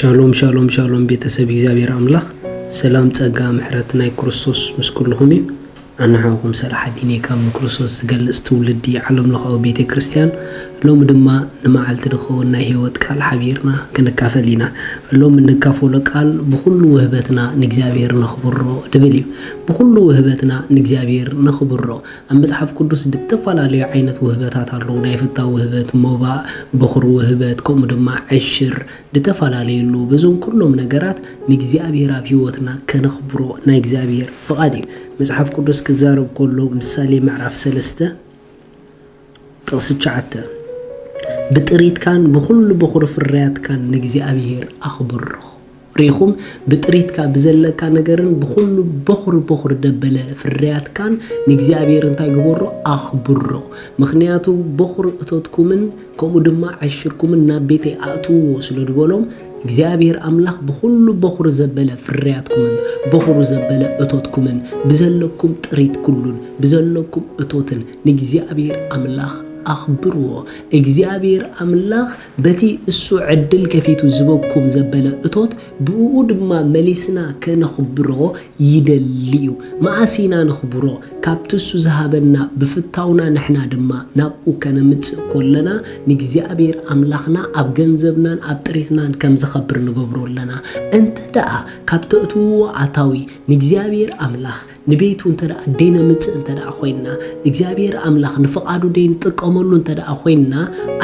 ሻሎም ሻሎም ሻሎም፣ ቤተሰብ እግዚኣብሔር ኣምላኽ፣ ሰላም ጸጋ ምሕረት ናይ ክርስቶስ ምስ ኩልኹም እዩ። ኣንሓውኹም ሰላሕ ኣዲኔ ካብ ንክርስቶስ ዝገልጽ ትውልዲ ዓለም ለኻዊ ቤተ ክርስቲያን። ሎሚ ድማ ንመዓልቲ ድኸውን ናይ ህይወት ቃል ሓቢርና ክንካፈል ኢና። ሎሚ እንካፈሎ ቃል ብኹሉ ውህበትና ንእግዚኣብሔር ነኽብሮ ድብል እዩ። ብኹሉ ውህበትና ንእግዚኣብሔር ነኽብሮ። ኣብ መጽሓፍ ቅዱስ ዝተፈላለዩ ዓይነት ውህበታት ኣለዉ። ናይ ፍታው ውህበት፣ ሞባእ፣ በኹሪ ውህበት፣ ከምኡ ድማ ዕሽር፣ ዝተፈላለየሉ። በዞም ኩሎም ነገራት ንእግዚኣብሔር ኣብ ህይወትና ከነኽብሮ ናይ እግዚኣብሔር ፍቓድ እዩ። መጽሓፍ ቅዱስ ክዛረብ ከሎ ምሳሌ ምዕራፍ ሰለስተ ጥቕሲ ትሽዓተ፣ ብጥሪትካን ብኹሉ በኹሪ ፍርያትካን ንእግዚኣብሔር ኣኽብሮ። ርኢኹም፣ ብጥሪትካ ብዘለካ ነገርን ብኹሉ በኹሪ በኹሪ ደበለ ፍርያትካን ንእግዚኣብሔር እንታይ ግበሮ? ኣኽብሮ። ምኽንያቱ በኹሪ እቶትኩምን ከምኡ ድማ ዕሽርኩምን ናብ ቤተይ ኣእትውዎ ስለ ዝበሎም፣ እግዚኣብሔር ኣምላኽ ብኹሉ በኹሪ ዘበለ ፍርያትኩምን በኹሪ ዘበለ እቶትኩምን ብዘለኩም ጥሪት ኩሉን ብዘለኩም እቶትን ንእግዚኣብሔር ኣምላኽ ኣኽብርዎ። እግዚኣብሔር ኣምላኽ በቲ እሱ ዕድል ከፊቱ ዝበኩም ዘበለ እቶት ብእኡ ድማ መሊስና ከነኽብሮ ይደሊ እዩ። መኣስ ኢና ነኽብሮ? ካብቲ እሱ ዝሃበና ብፍታውና ንሕና ድማ ናብኡ ከነምጽእ ከለና ንእግዚኣብሔር ኣምላኽና ኣብ ገንዘብናን ኣብ ጥሪትናን ከም ዝኸብር ንገብሮ ኣለና። እንተ ደኣ ካብ ተእትውዎ ኣታዊ ንእግዚኣብሔር ኣምላኽ ንቤቱ እንተ ደኣ ደይነምጽእ እንተ ደኣ ኮይንና፣ እግዚኣብሔር ኣምላኽ ንፍቓዱ ደይንጥቀመሉ እንተ ደኣ ኮይንና፣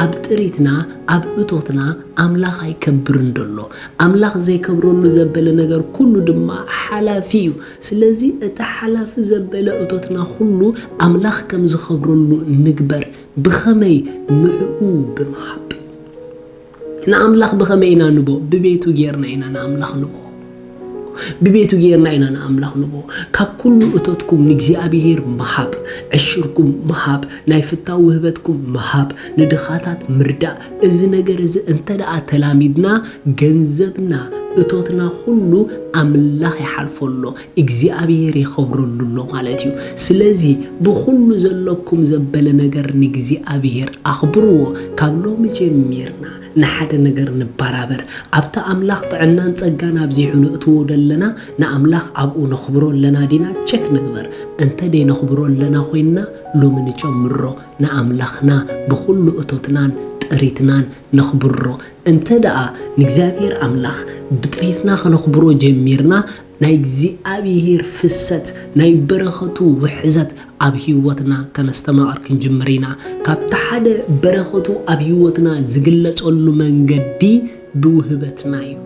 ኣብ ጥሪትና ኣብ እቶትና ኣምላኽ ኣይከብርን ደሎ። ኣምላኽ ዘይከብረሉ ዘበለ ነገር ኩሉ ድማ ሓላፊ እዩ። ስለዚ እቲ ሓላፊ ዘበለ እቶትና ኩሉ ኣምላኽ ከም ዝኸብረሉ ንግበር። ብኸመይ? ንዕኡ ብምሃብ። ንኣምላኽ ብኸመይ ኢና ንቦ? ብቤቱ ጌርና ኢና ንኣምላኽ ንቦ። ብቤቱ ጌርና ኢና ንኣምላኽ ንቦ። ካብ ኩሉ እቶትኩም ንእግዚኣብሔር ምሃብ፣ ዕሽርኩም ምሃብ፣ ናይ ፍታው ውህበትኩም ምሃብ፣ ንድኻታት ምርዳእ። እዚ ነገር እዚ እንተ ደኣ ተላሚድና፣ ገንዘብና፣ እቶትና ኩሉ ኣምላኽ ይሓልፎ ኣሎ፣ እግዚኣብሔር የኸብረሉ ኣሎ ማለት እዩ። ስለዚ ብኹሉ ዘለኩም ዘበለ ነገር ንእግዚኣብሔር ኣኽብርዎ። ካብ ሎሚ ጀሚርና ንሓደ ነገር ንበራበር። ኣብቲ ኣምላኽ ጥዕናን ጸጋን ኣብዚሑ ንእትዎ ደለና፣ ንኣምላኽ ኣብኡ ነኽብሮ ኣለና ዲና? ቸክ ንግበር። እንተ ደይነኽብሮ ኣለና ኮይንና፣ ሎሚ ንጨምሮ። ንኣምላኽና ብኹሉ እቶትናን ጥሪትናን ነኽብሮ። እንተ ደኣ ንእግዚኣብሔር ኣምላኽ ብጥሪትና ከነኽብሮ ጀሚርና፣ ናይ እግዚኣብሔር ፍሰት፣ ናይ በረኸቱ ውሕዘት ኣብ ህይወትና ከነስተማቕር ክንጅምር ኢና። ካብቲ ሓደ በረኸቱ ኣብ ህይወትና ዝግለጸሉ መንገዲ ብውህበትና እዩ።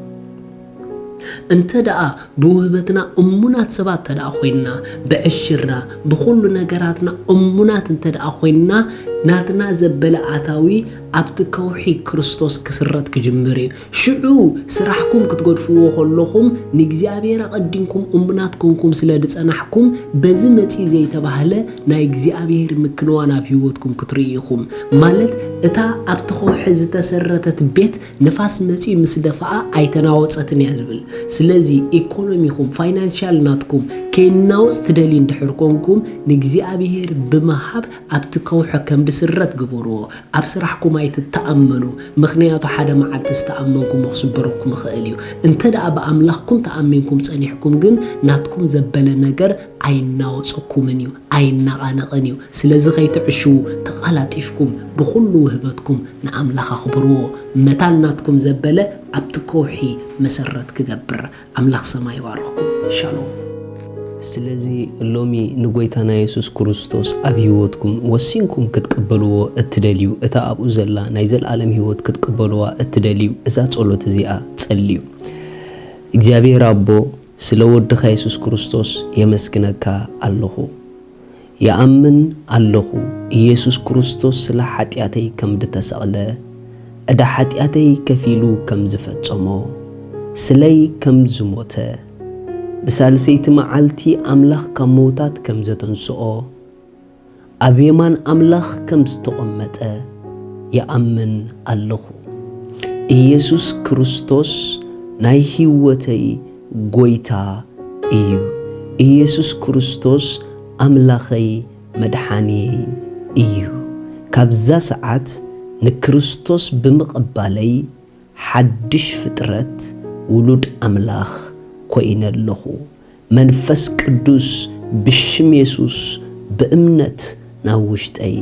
እንተ ደኣ ብውህበትና እሙናት ሰባት እንተ ደኣ ኮይንና፣ ብዕሽርና፣ ብኹሉ ነገራትና እሙናት እንተ ደኣ ኮይንና፣ ናትና ዘበለ ኣታዊ ኣብቲ ከውሒ ክርስቶስ ክስረት ክጅምር እዩ። ሽዑ ስራሕኩም ክትገድፍዎ ከለኹም፣ ንእግዚኣብሔር ኣቐዲምኩም እሙናት ኮንኩም ስለ ዝጸናሕኩም፣ በዚ መጺኡ ዘይተባህለ ናይ እግዚኣብሔር ምክንዋን ኣብ ህይወትኩም ክትርእዩ ኢኹም። ማለት፣ እታ ኣብቲ ከውሒ ዝተሰረተት ቤት ንፋስ መጺኡ ምስ ደፍኣ ኣይተናወጸትን እያ ዝብል። ስለዚ ኢኮኖሚኹም፣ ፋይናንሻል ናትኩም ከይናወጽ ትደልዩ እንድሕር ኮንኩም፣ ንእግዚኣብሔር ብምሃብ ኣብቲ ከውሒ ከም ድስረት ግበርዎ። ኣብ ስራሕኩም ኣይትተኣመኑ፣ ምኽንያቱ ሓደ መዓልቲ ዝተኣመንኩሞ ክስበረኩም ይኽእል እዩ። እንተ ደኣ ብኣምላኽኩም ተኣሚንኩም ጸኒሕኩም ግን ናትኩም ዘበለ ነገር ኣይናወጸኩምን እዩ፣ ኣይናቓነቕን እዩ። ስለዚ ከይትዕሽዉ ተቓላጢፍኩም ብኹሉ ውህበትኩም ንኣምላኽ ኣኽብርዎ። መታን ናትኩም ዘበለ ኣብቲ ከውሒ መሰረት ክገብር። ኣምላኽ ሰማይ ይባርኽኩም። ሻሎም። ስለዚ ሎሚ ንጎይታና የሱስ ክርስቶስ ኣብ ህይወትኩም ወሲንኩም ክትቅበልዎ እትደልዩ፣ እታ ኣብኡ ዘላ ናይ ዘለኣለም ህይወት ክትቅበልዋ እትደልዩ፣ እዛ ጸሎት እዚኣ ጸልዩ። እግዚኣብሔር ኣቦ፣ ስለ ወድኻ የሱስ ክርስቶስ የመስግነካ ኣለኹ። ይኣምን ኣለኹ፣ ኢየሱስ ክርስቶስ ስለ ሓጢኣተይ ከም ድተሰቕለ፣ ዕዳ ሓጢኣተይ ከፊሉ ከም ዝፈጸሞ፣ ስለይ ከም ዝሞተ፣ ብሳልሰይቲ መዓልቲ ኣምላኽ ካብ መውታት ከም ዘተንስኦ፣ ኣብ የማን ኣምላኽ ከም ዝተቐመጠ ይኣምን ኣለኹ። ኢየሱስ ክርስቶስ ናይ ህይወተይ ጎይታ እዩ። ኢየሱስ ክርስቶስ ኣምላኸይ መድሓንየይ እዩ። ካብዛ ሰዓት ንክርስቶስ ብምቕባለይ ሓድሽ ፍጥረት ውሉድ ኣምላኽ ኮይነ ኣለኹ። መንፈስ ቅዱስ ብሽም የሱስ ብእምነት ናብ ውሽጠይ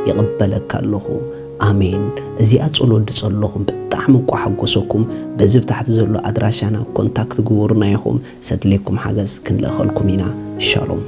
ይቕበለካ ኣለኹ። ኣሜን። እዚኣ ጸሎት ድጸለኹም ብጣዕሚ እኳ ሓጎሰኩም። በዚ ብታሕቲ ዘሎ ኣድራሻና ኮንታክት ግበሩና ኢኹም። ሰድሌኩም ሓገዝ ክንልእኸልኩም ኢና። ሻሎም።